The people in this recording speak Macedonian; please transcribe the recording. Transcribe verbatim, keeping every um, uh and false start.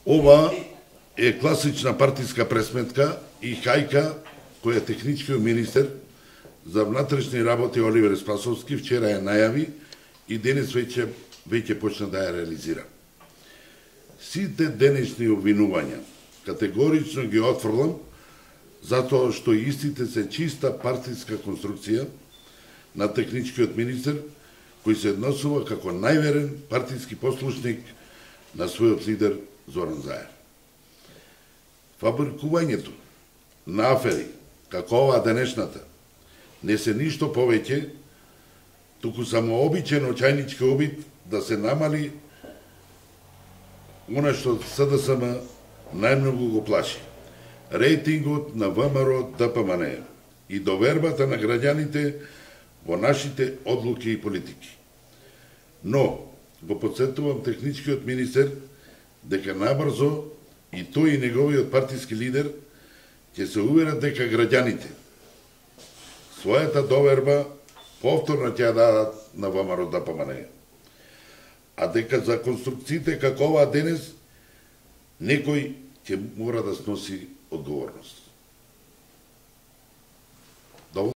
Ова е класична партиска пресметка и хајка која техничкиот министер за внатрешни работи Оливер Спасовски вчера ја најави и денес веќе веќе почна да ја реализира. Сите денешни обвинувања категорично ги отфрлам, затоа што истите се чиста партиска конструкција на техничкиот министер, кој се однесува како најверен партиски послушник на својот лидер Зоран Заев. Фабрикувањето на афери, како оваа денешната, не се ништо повеќе, туку само обичен очајнички обид да се намали она што СДСМ најмногу го плаши. Рейтингот на ВМРО Д П М Н и довербата на граѓаните во нашите одлуки и политики. Но, го подсетувам техничкиот министер дека набрзо и тој и неговиот партиски лидер ќе се уверат дека граѓаните својата доверба повторно ќе ја дадат на ВМРО Д П М Н. А дека за конструкциите како оваа денес некој ќе мора да сноси одговорност.